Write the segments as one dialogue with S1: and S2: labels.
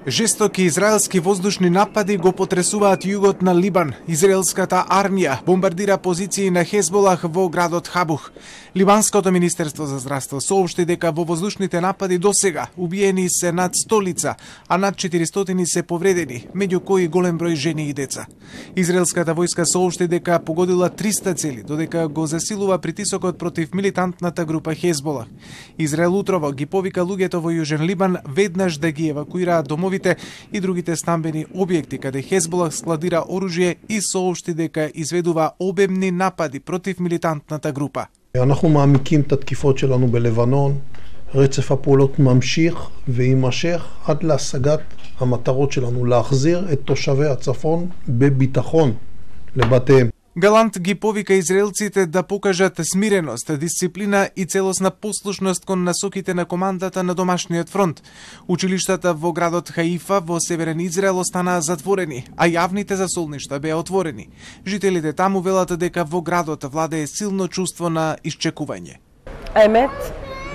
S1: Жестоки израелски воздушни напади го потресуваат југот на Либан. Израелската армија бомбардира позиции на Хезболах во градот Хабух. Либанското министерство за здравство соопшти дека во воздушните напади досега убиени се над 100 лица, а над 400 се повредени, меѓу кои голем број жени и деца. Израелската војска соопшти дека погодила 300 цели, додека го засилува притисокот против милитантната група Хезболах. Израел утрово ги повика луѓето во Јужен Либан веднаш да ги евакуираат домовите и другите стамбени објекти каде Хезболах складира оружје и соопшти дека изведува обемни напади против милитантната група.
S2: אנחנו מעמיקים את התקיפות שלנו בלבנון, רצף הפעולות ממשיך ויימשך עד להשגת המטרות שלנו, להחזיר את תושבי הצפון בביטחון לבתיהם.
S1: Галант ги повика израелците да покажат смиреност, дисциплина и целосна послушност кон насоките на командата на домашниот фронт. Училиштата во градот Хаифа во северен Израел останаа затворени, а јавните засолништа беа отворени. Жителите таму велат дека во градот владее силно чувство на исчекување.
S3: האמת,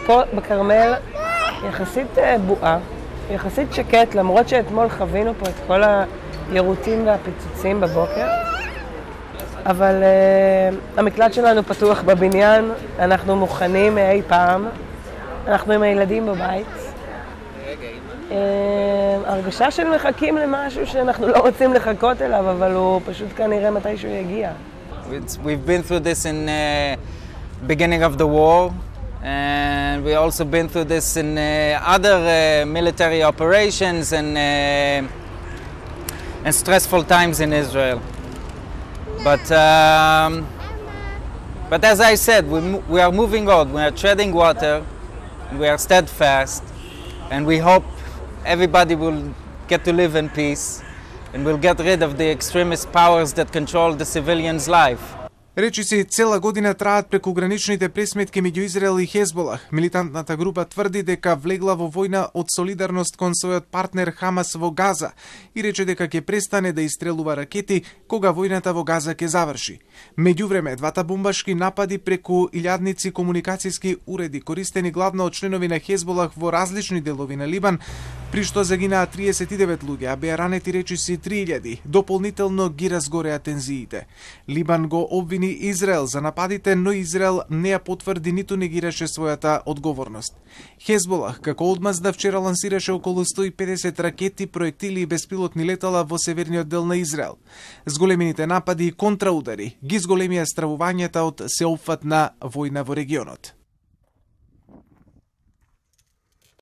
S3: פה בכרמל יחסית בועה, יחסית שקט, למרות שאתמול חווינו פה את כל היירוטים והפיצוצים בבוקר. אבל המקלט שלנו פתוח בבניין, אנחנו מוכנים אי פעם, אנחנו עם הילדים בבית. הרגשה של מחכים למשהו שאנחנו לא רוצים לחכות אליו, אבל הוא פשוט כנראה מתישהו יגיע.
S4: We've been through this in beginning of the war, and we also been through this in other military operations and stressful times in Israel. But as I said, we are moving on. We are treading water. We are steadfast, and we hope everybody will get to live in peace, and will get rid of the extremist powers that control the civilians' life.
S1: Речиси цела година траат прекуграничните пресметки меѓу Израел и Хезболах. Милитантната група тврди дека влегла во војна од солидарност кон својот партнер Хамас во Газа и рече дека ќе престане да истрелува ракети кога војната во Газа ќе заврши. Меѓувреме, двата бомбашки напади преку илјадници комуникацијски уреди, користени главно од членови на Хезболах во различни делови на Либан, при што загинаа 39 луѓе, а беа ранети речиси 3000, дополнително ги разгореа тензиите. Либан го обвини Израел за нападите, но Израел не ја потврди ниту негираше својата одговорност. Хезболах, како одмазда, вчера лансираше околу 150 ракети, проектили и беспилотни летала во северниот дел на Израел. Зголемените напади и контраудари ги зголемија стравувањата од сеопфатна војна во регионот.